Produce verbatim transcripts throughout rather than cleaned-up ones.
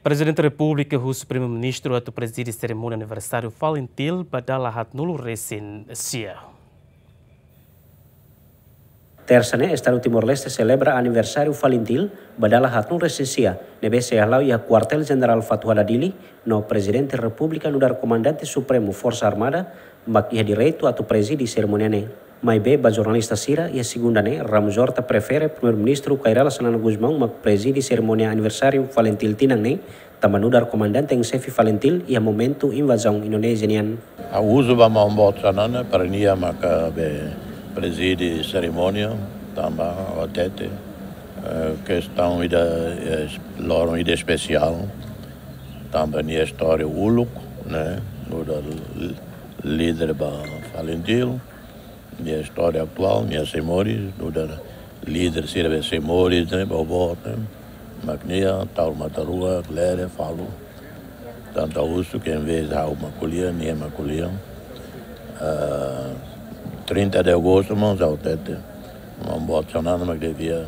Prezidente Repúblika husu Primeiru-Ministru atu prezide serimónia aniversáriu Falintil ba dala haatnulu resin sia. Tersa ne'e, Estadu Timor-Leste selebra aniversáriu Falintil ba dala haatnulu resin sia, ne'ebé sei hala'o iha Kuartél Jenerál Fatuhada, Dili, no Prezidente Repúblika nu'udar Komandante Supremu Forsa Armada, mak iha direitu atu prezide serimónia ne'e. Maibé ba jornalista sira, iha segunda ne'e, Ramos Horta prefere Primeiru-Ministru Kay Rala Xanana Gusmão mak prezide serimónia aniversáriu Falintil tinan ne'e, tanba nu'udar Komandante en Xefe Falintil iha momentu invazaun Indonézia nian. Ha'u husu ba Maun Boot Xanana para nia maka be prezide serimónia, tanba hatete, eh, kestaun ida, eh, loron ida espesiál, tanba nia istória uluk, ne'e, nu'udar l-, líder ba Falintil, nia istória atuál, nia sei moris, nu'udar líder sira be sei moris, ne'e, boboot, ne'e, mak nia, Taur Mataruak, Lere, Falu. Tantu husu ke envezde ha'u mak ko'alia, nia mak ko'alia. Ah, trinta de agostu, maun, ha'u hatete, Maun Boot Xanana mak devia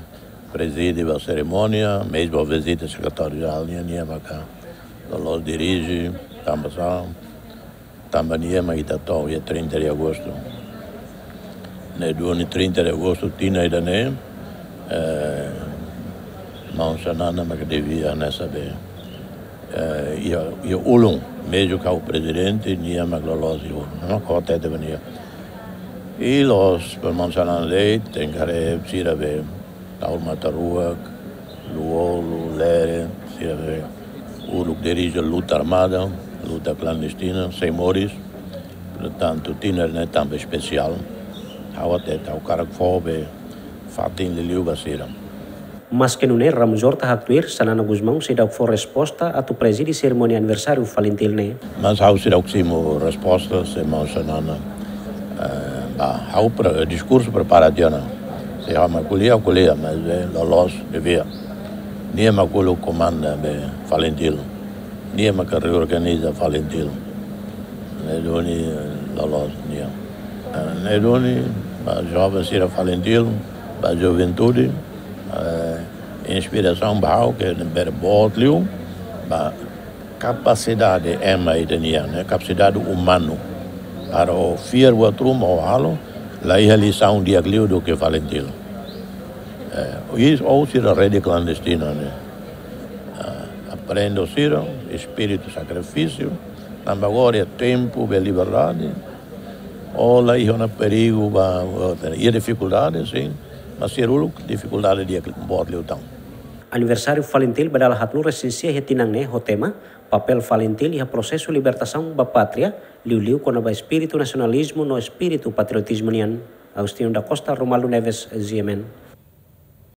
prezide ba serimónia, mezmu vizita sekretáriu jerál nian, nia maka loloos dirije, tanba sá, tanba nia mak ita to'o iha trinta de agostu. Ne'e duni trinta de agostu tinan ida-ne'e, eh, Maun Xanana mak devia hanesan be, eh, iha, iha ulun, mezmu ha'u prezidente, nia mak loloos iha ulun. Nia mak hatete ba nia. I loos ba Maun Xanana de'it, tenke haree sira be, Taur Mataruak, Lú-Olo, Lere, sira be uluk dirije luta armada, luta klandestina, sei moris. Portantu, tinan ne'e tanba espesiál. Ha'u hatete, ha'u hakarak fó be fatin liuliu ba sira. Maske nune'e, Ramos Horta haktuir, Xanana Gusmão seidauk fó resposta atu prezide serimónia aniversáriu Falintil ne'e. Mas ha'u seidauk simu resposta, se Maun Xanana, eh, ba, ha'u pre-, diskursu prepara tiha ona. Se ha'u mak ko'alia, ko'alia, mas, eh, loloos, devia. Nia mak uluk komanda be Falintil. Nia mak reorganiza Falintil. Ne'e duni, eh, loloos nia. Eh, ne'e duni, ba joven sira Falintil, ba juventude, eh, inspirasaun ba ha'u ke ne'ebé boot liu, ba kapasidade ema ida-nian, ne'e, kapasidade umanu. Para o fiar buat ruma o halo, la iha lisaun di'ak liu duké Falintil. Eh, i, ou sira rede klandestina, ne'e. Ah, aprende sira, espíritu sakrifísiu, tanba agora iha tempu be liberdade, o la iha ona perigu ba, ba, iha difikuldade, sin, mas sira uluk difikuldade di'ak boot liután. Aniversáriu Falintil ba dala haatnulu resin sia iha tinan ne'e ho tema, Papél Falintil iha Prosesu Libertasaun ba Pátria, liuliu kona-ba espíritu nasionalizmu no espíritu patriotizmu nian. Agostinho da Costa, Romualdo Neves, G M N.